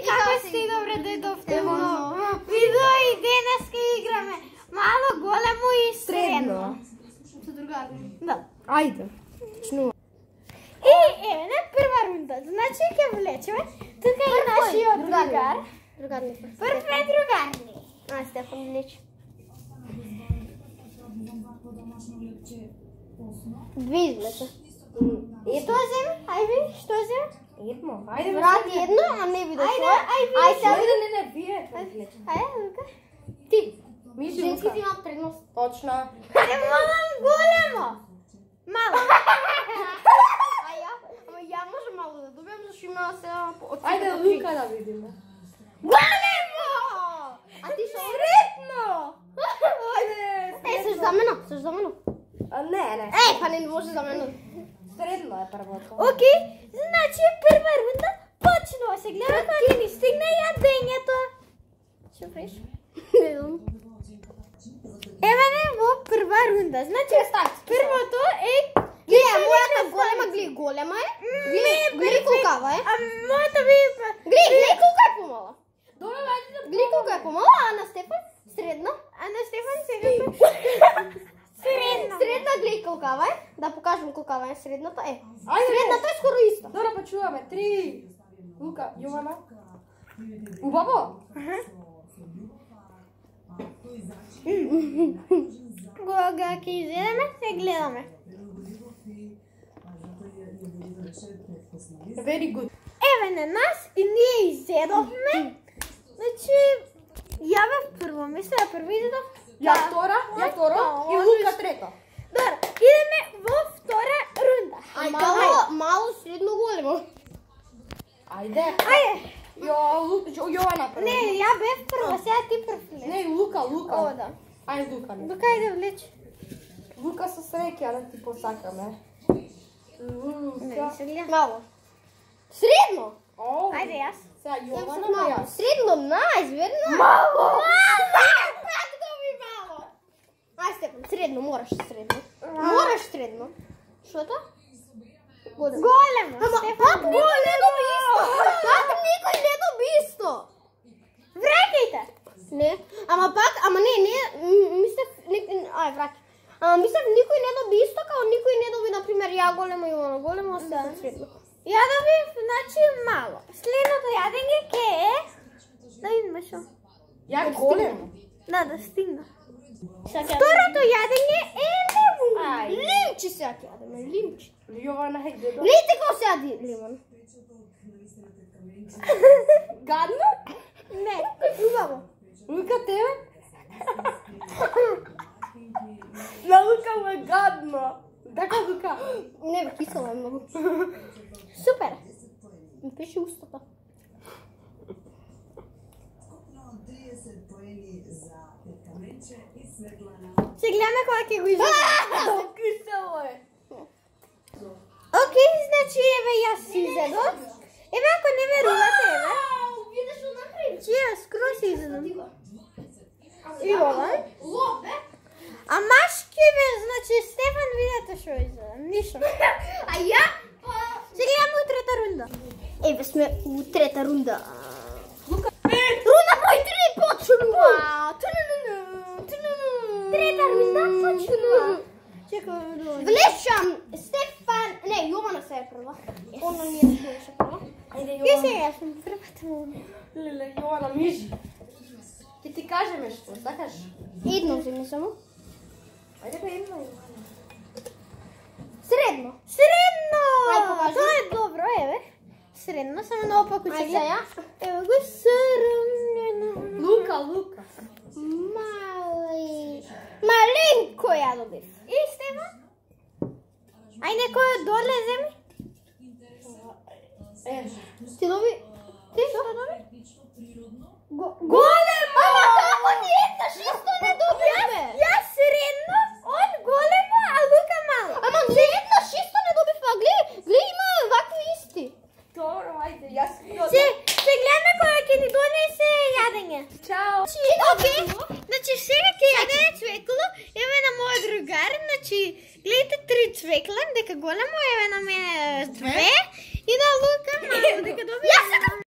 Како сте добре дојдовте во видео и денеска играме мало, големо и средно. Со другари. Да. Ајде. Почнува. И еве на прва рунда. Значи ќе влечеме. Тука е нашиот другар. Другар не Прв е другар ни. Стефан влече. Две извлече. И што земи? Ајде, што земи? Едно. Ајде, Врати едно, а не видиш. Ајде, не, вие. Ајде, Лука. Ти. Женските имаат предност. Точно. Ајде, малам големо. Мало. Ама ја може мало да добиам, зашто има сега од Ајде, Лука да видиме. големо! А ти што? Средно. Ајде. Сеш за мене, сеш за мене. Не. Па не може за мене. Средно е првото. Окей, значи прва рунда почнува. Се гледа кога ни стигне јадењето. Што правиш? Не знам. Еве не во прва рунда. Значи првото е Мојата голема, голема е. Гледај колкава е. А мојата би Гледај колка е помала. Добре, ајде да Гледај колка е помала, а на Стефан средна. А на Стефан сега средна. Средна гледај колкава е. Да покажам колкава е средната. Ајде, Средната е скоро иста. Добро, почуваме. 3. Лука, Јована. Убаво? Кога ќе изедеме, се гледаме. Very good. Еве на нас и ние изедовме. Значи, ја бев прво, мисля прво изедов. Ја втора и Лука трета. Добро, идеме во втора рунда. Мало, средно, големо. Ајде. Ајде. Јована прво. Не, ја бев прво, сега ти прв. Не, Лука. О, да. Ајде, Лука. До кај да влече? Лука со среќа да ти посакаме. Не, се гледа. Мало. Средно. Ајде јас. Сега Јована, Мало. јас. Средно, најзверно. Мало! Как да ми мало? Ај, Стефан, средно, мораш средно. Мораш средно. Што тоа? Големо. Стефан, не доби исто? Как никој не доби исто? вракајте. Не, ама не, мислев, ај, враќај. Ама мислев никој не доби исто, као никој не доби, например, ја големо и она големо, а Стефан средно. Ја добив, значи мало. Следното јадење ке е... Да видиме шо. Ја големо. Да стигна. Второто Второто јадење е лимон. лимчи сега ќе јадеме, лимчи. Јована, хајде до. Гледайте како се јади лимон. Гадно? Не, убаво. Лука, тебе? На Лука му е гадно. Така, Лука. Не бе, кисело е многу. Супер. Ми пише устата. Се гледаме кога ќе го изедам. Кисело е. Окей, значи еве јас си изедов. Еве ако не верувате, еве. Видиш што направи? Чија скроз си изедам. И ова? А машки бе, значи Стефан видете што изедам. Ништо. А ја? Се гледаме у трета рунда. Еве сме у трета рунда. Лука. Рунда број 3 почнува. Трета рунда почнува. Чекај, Влечам Стефан, не, Јована се е прва. Она не беше прва. Ајде, Ке се Јована. јас сум првата рунда. Леле, Јована, мижи. Ти кажеме што, сакаш? Едно вземи само. Ајде бе, едно, Јована. Средно. Средно! Ај, покажи. Тоа е добро, еве. Средно, само наопаку Ај, ќе сега. Ево го средно. Лука. Мали. Маленко ја добив. И Стефан? Ај некој доле земи? Ти доби? Ти што доби? Големо! Ама како ни еднаш исто не добивме? Јас средно, он големо, а Лука мало. Ама ни еднаш исто не добивме, гледај, има вакви исти. Добро, ајде, јас. Се гледаме кога ќе ни донесе јадење. Чао. Окей, значи сега ќе јадеме цвекло, еве на мојот другар, значи гледате 3 цвекла, дека големо, еве на мене 2 и на Лука мало, дека добија.